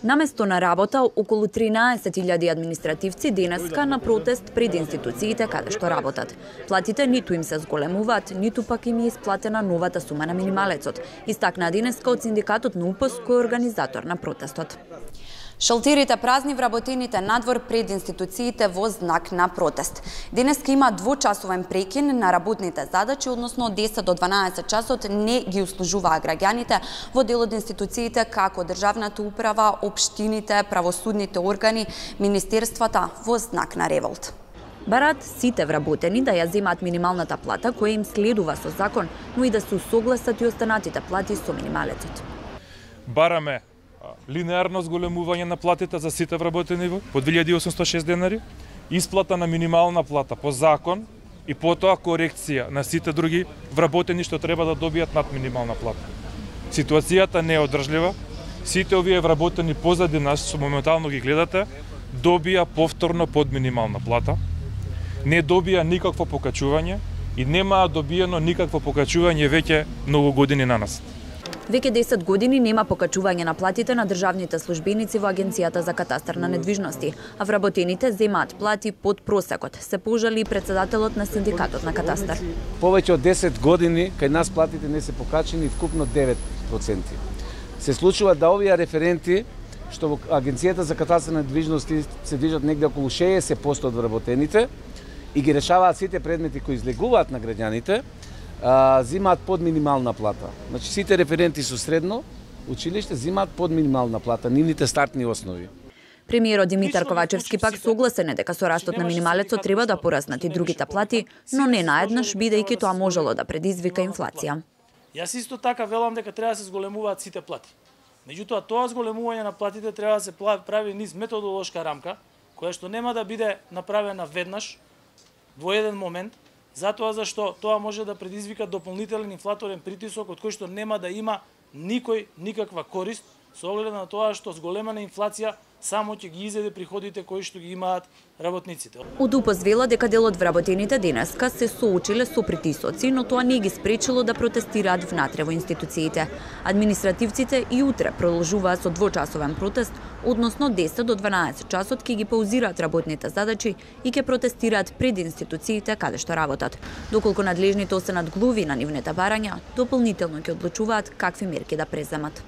Наместо на работа, околу 13.000 административци денеска на протест пред институциите каде што работат. Платите ниту им се зголемуваат, ниту пак им е исплатена новата сума на минималецот, истакна денеска од синдикатот на УПС кој е организатор на протестот. Шалтерите празни, вработените надвор пред институциите во знак на протест. Денеска има двочасовен прекин на работните задачи, односно од 10 до 12 часот не ги услужуваа граѓаните во дел од институциите како државната управа, општините, правосудните органи, министерствата во знак на револт. Бараат сите вработени да ја земаат минималната плата која им следува со закон, но и да се усогласат и останатите плати со минималецот. Бараме линеарно зголемување на платите за сите вработени по 2806 денари, исплата на минимална плата по закон и потоа корекција на сите други вработени што треба да добијат над минимална плата. Ситуацијата не е одржлива. Сите овие вработени позади нас, што моментално ги гледате, добија повторно под минимална плата, не добија никакво покачување и немаа добиено никакво покачување веќе многу години на нас. Веќе 10 години нема покачување на платите на државните службеници во Агенцијата за катастар на недвижности, а вработените земаат плати под просекот, се пожали и председателот на синдикатот на катастар. Повеќе од 10 години кај нас платите не се покачени вкупно 9%. Се случува да овие референти што во Агенцијата за катастар на недвижности се движат негде околу 60% од вработените и ги решаваат сите предмети кои излегуваат на граѓаните, зимаат под минимална плата. Значи сите референти со средно училиште зимаат под минимална плата, нивните стартни основи. Премиерот Димитар Ковачевски пак согласен е дека со растот на минималецот треба да пораснат и другите плати, но не наеднаш, бидејќи тоа можело да предизвика инфлација. Јас исто така велам дека треба да се зголемуваат сите плати. Меѓутоа, тоа зголемување на платите треба да се прави низ методолошка рамка, која што нема да биде направена веднаш, во еден момент, затоа зашто тоа може да предизвика дополнителен инфлаторен притисок од кој што нема да има никој никаква корист со оглед на тоа што зголемена инфлација само ќе ги изеде приходите кои што ги имаат работниците. Од УПС вела дека дел од вработените денеска се соочиле со притисоци, но тоа не ги спречило да протестираат внатре во институциите. Административците и утре продолжуваат со двочасовен протест, односно 10 до 12 часот ќе ги паузираат работните задачи и ќе протестираат пред институциите каде што работат. Доколку надлежните останат глуви на нивните барања, дополнително ќе одлучуваат какви мерки да преземат.